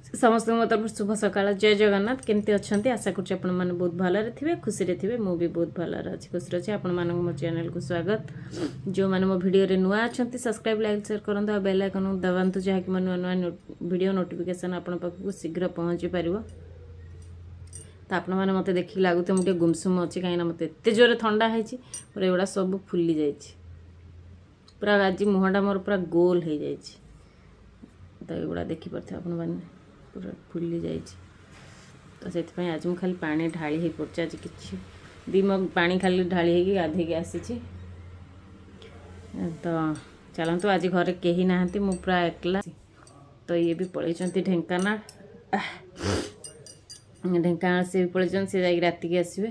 ସମସ୍ତଙ୍କୁ ମୋ ତରଫରୁ ଶୁଭ ସକାଳ, ଜୟ ଜଗନ୍ନାଥ। କେମିତି ଅଛନ୍ତି? ଆଶା କରୁଛି ଆପଣମାନେ ବହୁତ ଭଲରେ ଥିବେ, ଖୁସିରେ ଥିବେ। ମୁଁ ବି ବହୁତ ଭଲରେ ଅଛି, ଖୁସିରେ ଅଛି। ଆପଣମାନଙ୍କୁ ମୋ ଚ୍ୟାନେଲକୁ ସ୍ୱାଗତ। ଯେଉଁମାନେ ମୋ ଭିଡ଼ିଓରେ ନୂଆ ଅଛନ୍ତି, ସବସ୍କ୍ରାଇବ୍, ଲାଇକ୍, ସେୟାର କରନ୍ତୁ ଆଉ ବେଲ୍ ଆଇକନ୍କୁ ଦବାନ୍ତୁ, ଯାହାକି ମୋ ନୂଆ ନୂଆ ଭିଡ଼ିଓ ନୋଟିଫିକେସନ୍ ଆପଣଙ୍କ ପାଖକୁ ଶୀଘ୍ର ପହଞ୍ଚି ପାରିବ। ତ ଆପଣମାନେ ମୋତେ ଦେଖିକି ଲାଗୁଥିବ ମୁଁ ଟିକେ ଗୁମସୁମ ଅଛି, କାହିଁକିନା ମୋତେ ଏତେ ଜୋରରେ ଥଣ୍ଡା ହେଇଛି। ମୋର ଏଗୁଡ଼ା ସବୁ ଫୁଲି ଯାଇଛି ପୁରା। ଆଜି ମୁହଁଟା ମୋର ପୁରା ଗୋଲ ହେଇଯାଇଛି। ତ ଏଗୁଡ଼ା ଦେଖିପାରୁଥିବେ ଆପଣମାନେ, ପୁରା ଫୁଲି ଯାଇଛି। ତ ସେଥିପାଇଁ ଆଜି ମୁଁ ଖାଲି ପାଣି ଢାଳି ହେଇ ପଡ଼ୁଛି। ଆଜି କିଛି 2 ମଗ ପାଣି ଖାଲି ଢାଳି ହେଇକି ଗାଧେଇକି ଆସିଛି। ତ ଚାଲନ୍ତୁ, ଆଜି ଘରେ କେହି ନାହାନ୍ତି, ମୁଁ ପୁରା ଏକଲା। ତ ଇଏ ବି ପଳେଇଛନ୍ତି ଢେଙ୍କାନାଳ। ଢେଙ୍କାନାଳ ସିଏ ବି ପଳେଇଛନ୍ତି, ସେ ଯାଇକି ରାତିକି ଆସିବେ।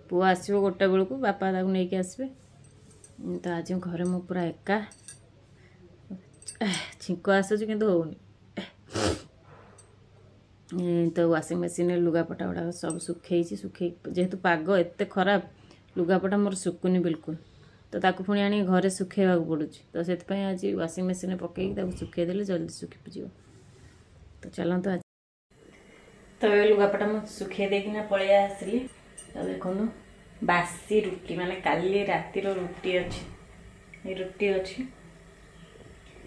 ପୁଅ ଆସିବ 1ଟା ବେଳକୁ, ବାପା ତାକୁ ନେଇକି ଆସିବେ। ତ ଆଜି ଘରେ ମୁଁ ପୁରା ଏକା। ଛିଙ୍କ ଆସୁଛି କିନ୍ତୁ ହେଉନି। ତ ୱାସିଂ ମେସିନ୍ରେ ଲୁଗାପଟା ଗୁଡ଼ାକ ସବୁ ଶୁଖେଇଛି। ଶୁଖେଇ ଯେହେତୁ ପାଗ ଏତେ ଖରାପ, ଲୁଗାପଟା ମୋର ଶୁକୁନି ବିଲକୁଲ। ତ ତାକୁ ପୁଣି ଆଣି ଘରେ ଶୁଖେଇବାକୁ ପଡ଼ୁଛି। ତ ସେଥିପାଇଁ ଆଜି ୱାସିଂ ମେସିନ୍ରେ ପକେଇକି ତାକୁ ଶୁଖେଇଦେଲେ ଜଲ୍ଦି ଶୁଖିଯିବ। ତ ଚାଲନ୍ତୁ, ଆଜି ତ ଏବେ ଲୁଗାପଟା ମୁଁ ଶୁଖେଇ ଦେଇକିନା ପଳେଇ ଆସିଲି। ତ ଦେଖନ୍ତୁ, ବାସି ରୁଟି, ମାନେ କାଲି ରାତିର ରୁଟି ଅଛି, ଏ ରୁଟି ଅଛି।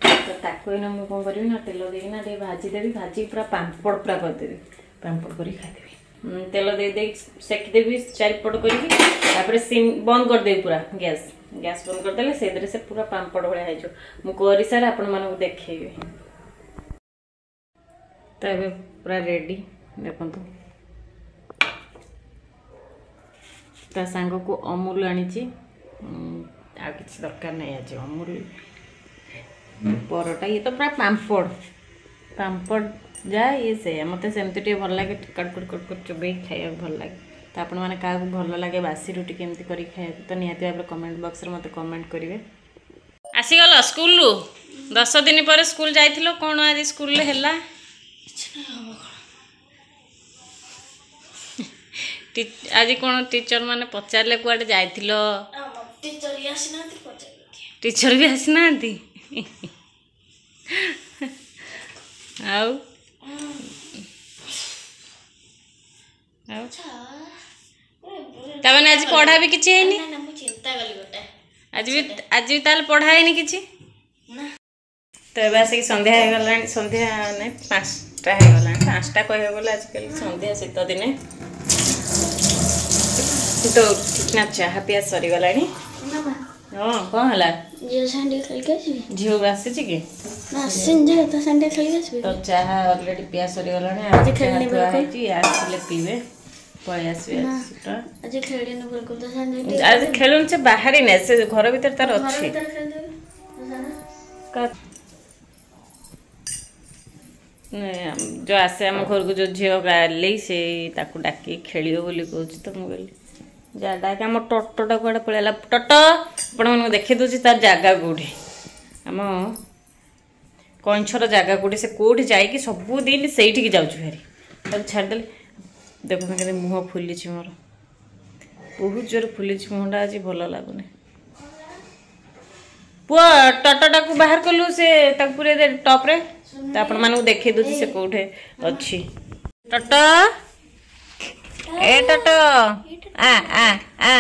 ତ ତାକୁ ଏଇନା ମୁଁ କ'ଣ କରିବି ନା ତେଲ ଦେଇକିନା ଟିକେ ଭାଜିଦେବି। ଭାଜିକି ପୁରା ପାମ୍ପଡ଼ ପୁରା କରିଦେବି, ପାମ୍ପଡ଼ କରିକି ଖାଇଦେବି। ତେଲ ଦେଇ ଦେଇକି ସେକିଦେବି ଚାରିପଟ କରିକି, ତାପରେ ସିମ୍ ବନ୍ଦ କରିଦେବି ପୁରା ଗ୍ୟାସ୍। ଗ୍ୟାସ୍ ବନ୍ଦ କରିଦେଲେ ସେଇଥିରେ ସେ ପୁରା ପାମ୍ପଡ଼ ଭଳିଆ ହେଇଯିବ। ମୁଁ କରିସାରେ ଆପଣମାନଙ୍କୁ ଦେଖେଇବି। ତ ଏବେ ପୁରା ରେଡ଼ି, ଦେଖନ୍ତୁ। ତା ସାଙ୍ଗକୁ ଅମୁଲ ଆଣିଛି, ଆଉ କିଛି ଦରକାର ନାହିଁ ଆଜି। ଅମୁଲ, ପରଟା, ଇଏ ତ ପୁରା ପାମ୍ପଡ଼। ପାମ୍ପଡ଼ ଯାହା ଇଏ ସେଇଆ। ମୋତେ ସେମିତି ଟିକେ ଭଲ ଲାଗେ, କଟକଟ କଟକଟ ଚୋବେଇକି ଖାଇବାକୁ ଭଲ ଲାଗେ। ତ ଆପଣମାନେ କାହାକୁ ଭଲ ଲାଗେ ବାସି ରୁଟି କେମିତି କରିକି ଖାଇବାକୁ, ତ ନିହାତି ଭାବରେ କମେଣ୍ଟ ବକ୍ସରେ ମୋତେ କମେଣ୍ଟ କରିବେ। ଆସିଗଲ ସ୍କୁଲରୁ 10 ଦିନ ପରେ। ସ୍କୁଲ ଯାଇଥିଲ, କ'ଣ ଆଜି ସ୍କୁଲରେ ହେଲା? ଆଜି କ'ଣ ଟିଚର ମାନେ ପଚାରିଲେ କୁଆଡ଼େ ଯାଇଥିଲ? ଟିଚର ବି ଆସିନାହାନ୍ତି। ଆଉ ଆଉ ତାମାନେ ଆଜି ପଢ଼ା ବି କିଛି ହେଇନି? ଆଜି ବି, ଆଜି ବି ତାହେଲେ ପଢ଼ା ହେଇନି କିଛି। ତ ଏବେ ଆସିକି ସନ୍ଧ୍ୟା ହେଇଗଲାଣି। ସନ୍ଧ୍ୟା ନାଇଁ, 5ଟା ହେଇଗଲାଣି। 5ଟା କହିବାକୁ ଗଲେ ଆଜିକାଲି ସନ୍ଧ୍ୟା ଶୀତ ଦିନେ। ତ ଠିକ୍ ନା, ଚାହା ପିଆ ସରିଗଲାଣି। ହଁ, କ'ଣ ହେଲା? ଝିଅ ଆସିଛି କି? ତ ଚାହା ଅଲରେଡି ପିଆ ସରିଗଲାଣି, ହେଇଛି, ଆସିଲେ ପିଇବେ, ପଳେଇ ଆସିବେ। ଆଜି ଖେଳୁନି ସେ, ବାହାରିନି ସେ, ଘର ଭିତରେ ତାର ଅଛି। ଯୋଉ ଆସେ ଆମ ଘରକୁ ଯୋଉ ଝିଅ ଗାଲି, ସେ ତାକୁ ଡାକି ଖେଳିବ ବୋଲି କହୁଛି। ତ ମୁଁ କହିଲି ଯା ଡାକେ। ଆମ ଟଟଟା କୁଆଡ଼େ ପଳେଇଲା? ଟଟ ଆପଣମାନଙ୍କୁ ଦେଖେଇ ଦେଉଛି ତାର ଜାଗା କେଉଁଠି, ଆମ କଇଁଛର ଜାଗା କେଉଁଠି, ସେ କେଉଁଠି ଯାଇକି ସବୁଦିନ ସେଇଠିକି ଯାଉଛି ଭାରି। ତାକୁ ଛାଡ଼ିଦେଲେ ଦେଖନ୍ତୁ କେମିତି ମୁହଁ ଫୁଲିଛି ମୋର, ବହୁତ ଜୋରେ ଫୁଲିଛି ମୁହଁଟା, ଆଜି ଭଲ ଲାଗୁନି। ପୁଅ, ଟଟଟାକୁ ବାହାର କଲୁ, ସେ ତାକୁ ପୁରେଇ ଦେ ଟପ୍ରେ। ତ ଆପଣମାନଙ୍କୁ ଦେଖେଇ ଦେଉଛି ସେ କେଉଁଠି ଅଛି। ଟଟ, ଏ ଟଟ, ଆ ଆ ଆ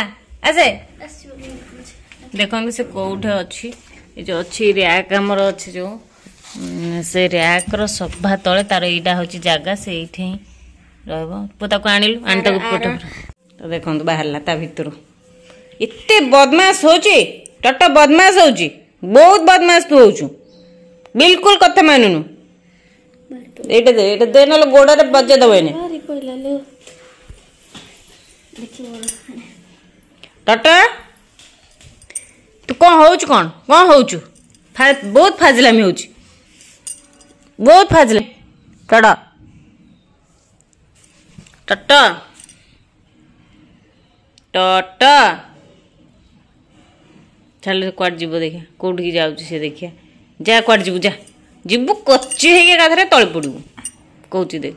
ଆସେ। ଦେଖନ୍ତୁ ସେ କେଉଁଠି ଅଛି। ଏ ଯେଉଁ ଅଛି ର୍ୟାକ୍ ଆମର ଅଛି ଯେଉଁ, ସେ ର୍ୟାକ୍ର ସଭା ତଳେ ତାର ଏଇଟା ହେଉଛି ଜାଗା, ସେଇଠି ହିଁ ରହିବ। ପୁଅ, ତାକୁ ଆଣିଲୁ, ଆଣି ତାକୁ। ତ ଦେଖନ୍ତୁ, ବାହାରିଲା ତା ଭିତରୁ। ଏତେ ବଦମାସ ହଉଛି ଟଟ, ବଦମାସ ହଉଛି, ବହୁତ ବଦମାସ ତୁ ହଉଛୁ, ବିଲକୁଲ କଥା ମାନୁନୁ। ଏଇଟା ଦେ, ଏଇଟା ଦେ, ନହେଲେ ଗୋଡ଼ରେ ବଜେଇ ଦେବ ଏଇନେ। ଟଟ, ତୁ କ'ଣ ହଉଛୁ? କ'ଣ କ'ଣ ହଉଛୁ? ବହୁତ ଫାଜିଲାମି ହଉଛି, ବହୁତ ଫାଜିଲା। ଟଟ, ଟଟ, ଟଟ, ଚାଲ। କୁଆଡ଼େ ଯିବ ଦେଖିଆ, କୋଉଠିକି ଯାଉଛି ସେ ଦେଖିଆ। ଯା, କୁଆଡ଼େ ଯିବୁ? ଯା, ଯିବୁ କଚି ହେଇକି ଏକାଥରେ ତଳେ ପଡ଼ିବୁ, କହୁଛି ଦେ।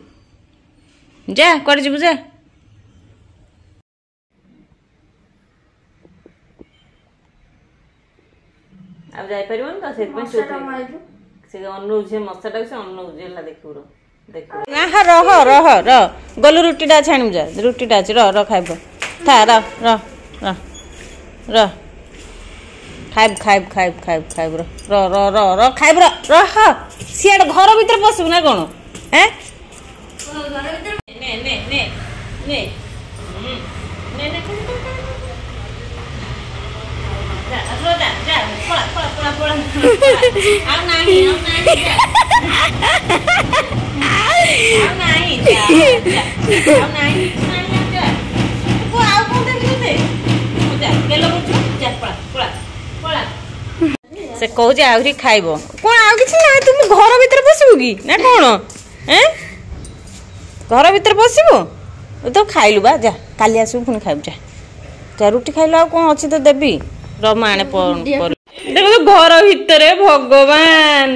ଯା, କୁଆଡ଼େ ଯିବୁ ଯା। ଆଉ ଯାଇପାରିବନି ତ ସେଥିପାଇଁ ସେ ଅନଉଛି, ସେ ମଶାଟାକୁ ସେ ଅନଉଛି। ହେଲା, ଦେଖିବୁ। ନା, ରହ ରହ ରହ, ଗଲୁ ରୁଟିଟା ଅଛି ଆଣିବୁ ଯା, ରୁଟିଟା ଅଛି, ରହ ରହ, ଖାଇବ ଥା, ରହ ରହ ରହ ରହ, ଖାଇବୁ ଖାଇବୁ ଖାଇବୁ ଖାଇବୁ ଖାଇବୁ, ରହ ରହ ରହ ରହ ରହ, ଖାଇବୁ, ରହ ରହ। ସିଆଡ଼େ ଘର ଭିତରେ ପଶିବୁ ନା କ'ଣ? ଏଁ, ନେ ନେ ନେ ନେ ନେ ନେ, ଯା ଯା, ପଳା ପଳା ପଳା ପଳା, ଆଉ ନାହିଁ, ଆଉ ନାହିଁ, ଆଉ ନାହିଁ, ଆଉ ନାହିଁ, ନାହିଁ, ଯା। ଆଉ କ'ଣ ଦେବି ତୋତେ? ଯା, ଗେଲ କରୁଛୁ, ଯା, ପଳା ପଳା ପଳା। ସେ କହୁଛି ଆହୁରି ଖାଇବ। କ'ଣ ଆଉ କିଛି ନାହିଁ? ତୁ ଘର ଭିତରେ ପଶିବୁ କି ନା କ'ଣ? ଏଁ, ଘର ଭିତରେ ପଶିବୁ ତ? ଖାଇଲୁ ବା, ଯା, କାଲି ଆସିବୁ ପୁଣି ଖାଇବୁ। ଯା ଯା, ରୁଟି ଖାଇଲୁ, ଆଉ କ'ଣ ଅଛି ତ ଦେବି? ରମା ଆଣେ। ଦେଖ ଘର ଭିତରେ, ଭଗବାନ,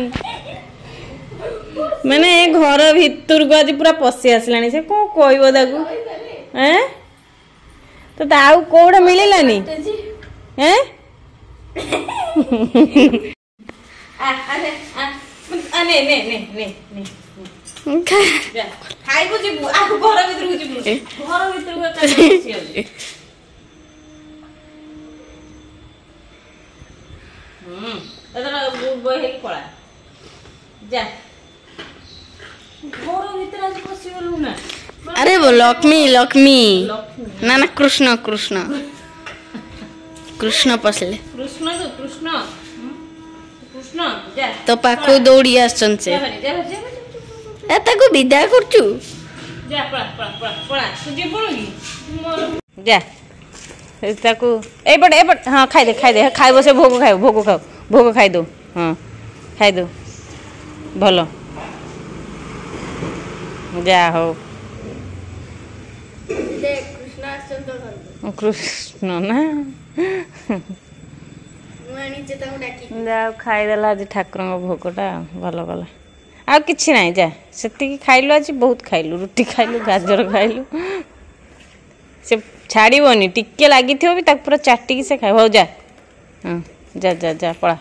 ମାନେ ଘର ଭିତରକୁ ଆଜି ପୁରା ପଶି ଆସିଲାଣି ସେ। କ'ଣ କହିବ ତାକୁ? ଏଁ, ତୋତେ ଆଉ କୋଉଟା ମିଳିଲାନି? ଏଁ, ନେ ନେ ନେ ନେ ନେ, ଖାଇବୁ ଯିବୁ, ଆଉ ଘର ଭିତରକୁ ଯିବୁ? ଘର ଭିତରକୁ। ଏଥର ଗୁଡ୍ ବୟ ହେଇକି ପଳା, ଯା। ଘର ଭିତରେ ଆଜି ପଶିଗଲୁ ନା? ଆରେ ଲକ୍ଷ୍ମୀ, ଲକ୍ଷ୍ମୀ ନା ନା, କୃଷ୍ଣ କୃଷ୍ଣ କୃଷ୍ଣ ପଶିଲେ। କୃଷ୍ଣ ତ କୃଷ୍ଣ କୃଷ୍ଣ, ଯା। ତୋ ପାଖକୁ ଦୌଡ଼ି ଆସିଛନ୍ତି ସେ। ଏ ତାକୁ ବିଦା କରୁଛୁ? ଯା, ପଳା ପଳା ପଳା ପଳା, ତୁ ଯିବୁନୁ କି? ଯା ତାକୁ ଏଇପଟେ ଏପଟେ। ହଁ, ଖାଇଦେ ଖାଇଦେ, ଖାଇବ ସେ, ଭୋଗ ଖାଇବ, ଭୋଗ ଖାଉ, ଭୋଗ ଖାଇଦଉ। ହଁ, ଖାଇଦଉ, ଭଲ, ଯା ହଉ। କୃଷ୍ଣ ନା, ଯା ଖାଇଦେଲା ଆଜି ଠାକୁରଙ୍କ ଭୋଗଟା, ଭଲ କଲା। ଆଉ କିଛି ନାହିଁ, ଯା, ସେତିକି ଖାଇଲୁ ଆଜି, ବହୁତ ଖାଇଲୁ, ରୁଟି ଖାଇଲୁ, ଗାଜର ଖାଇଲୁ। ସେ ଛାଡ଼ିବନି, ଟିକେ ଲାଗିଥିବ ବି ତାକୁ ପୁରା ଚାଟିକି ସେ ଖାଇବ। ହଉ ଯା, ହଁ, ଯା ଯା ଯା, ପଳା।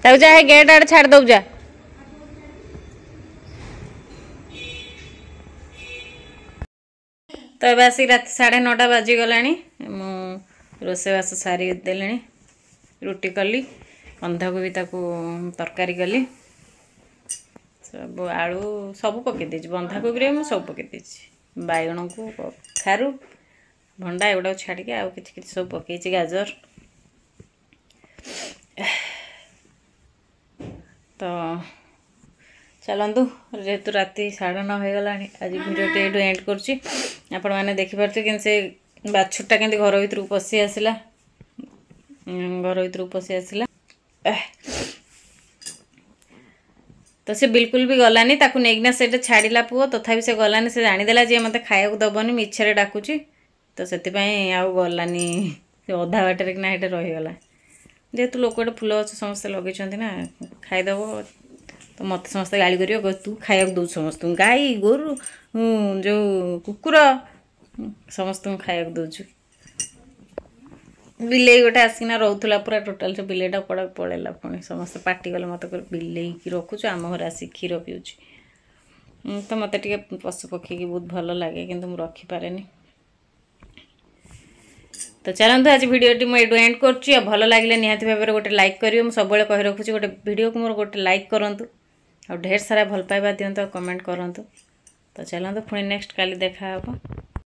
ତାକୁ ଯା, ଗେଟ୍ ଆଡ଼େ ଛାଡ଼ି ଦବୁ, ଯା। ତ ଏବେ ଆସିକି ରାତି 9:30 ବାଜିଗଲାଣି। ମୁଁ ରୋଷେଇବାସ ସାରି ଦେଲିଣି, ରୁଟି କଲି, ବନ୍ଧାକୋବି ତାକୁ ତରକାରୀ କଲି, ସବୁ ଆଳୁ ସବୁ ପକେଇ ଦେଇଛି ବନ୍ଧାକୋବିରେ, ମୁଁ ସବୁ ପକେଇ ଦେଇଛି, ବାଇଗଣକୁ, କଖାରୁ, ଭଣ୍ଡା ଏଗୁଡ଼ାକୁ ଛାଡ଼ିକି ଆଉ କିଛି କିଛି ସବୁ ପକେଇଛି, ଗାଜର। ତ ଚାଲନ୍ତୁ, ଯେହେତୁ ରାତି 9:30 ହେଇଗଲାଣି, ଆଜି ଭିଡ଼ିଓଟି ଏଇଠୁ ଏଣ୍ଡ କରୁଛି। ଆପଣମାନେ ଦେଖିପାରୁଥିବେ କିନ୍ତୁ ସେ ବାଛୁରଟା କେମିତି ଘର ଭିତରକୁ ପଶି ଆସିଲା, ଘର ଭିତରକୁ ପଶି ଆସିଲା ତ ସେ ବିଲକୁଲ ବି ଗଲାନି। ତାକୁ ନେଇକିନା ସେଇଟା ଛାଡ଼ିଲା ପୁଅ, ତଥାପି ସେ ଗଲାନି। ସେ ଜାଣିଦେଲା ଯେ ମୋତେ ଖାଇବାକୁ ଦେବନି, ମିଛରେ ଡାକୁଛି, ତ ସେଥିପାଇଁ ଆଉ ଗଲାନି। ସେ ଅଧା ବାଟରେ କିନା ସେଇଟା ରହିଗଲା। ଯେହେତୁ ଲୋକ ଗୋଟେ ଫୁଲ ଗଛ ସମସ୍ତେ ଲଗେଇଛନ୍ତି ନା, ଖାଇଦେବ ତ ମୋତେ ସମସ୍ତେ ଗାଳି କରିବେ, ତୁ ଖାଇବାକୁ ଦେଉଛୁ ସମସ୍ତଙ୍କୁ, ଗାଈ ଗୋରୁ ଯେଉଁ କୁକୁର ସମସ୍ତଙ୍କୁ ଖାଇବାକୁ ଦେଉଛୁ। ବିଲେଇ ଗୋଟେ ଆସିକିନା ରହୁଥିଲା ପୁରା ଟୋଟାଲ୍, ସେ ବିଲେଇଟା କୁଆଡ଼େ ପଳେଇଲା ପୁଣି। ସମସ୍ତେ ପାଟି କଲେ ମୋତେ, କହିଲେ ବିଲେଇକି ରଖୁଛୁ, ଆମ ଘରେ ଆସିକି କ୍ଷୀର ପିଉଛି। ତ ମୋତେ ଟିକେ ପଶୁ ପକ୍ଷୀକି ବହୁତ ଭଲ ଲାଗେ, କିନ୍ତୁ ମୁଁ ରଖିପାରେନି। ତ ଚାଲନ୍ତୁ, ଆଜି ଭିଡ଼ିଓଟି ମୁଁ ଏଇଠୁ ଏଣ୍ଡ କରୁଛି। ଆଉ ଭଲ ଲାଗିଲେ ନିହାତି ଭାବରେ ଗୋଟେ ଲାଇକ୍ କରିବେ। ମୁଁ ସବୁବେଳେ କହି ରଖୁଛି, ଗୋଟେ ଭିଡ଼ିଓକୁ ମୋର ଗୋଟେ ଲାଇକ୍ କରନ୍ତୁ ଆଉ ଢେର ସାରା ଭଲ ପାଇବା ଦିଅନ୍ତୁ ଆଉ କମେଣ୍ଟ କରନ୍ତୁ। ତ ଚାଲନ୍ତୁ, ପୁଣି ନେକ୍ସଟ କାଲି ଦେଖା ହେବ।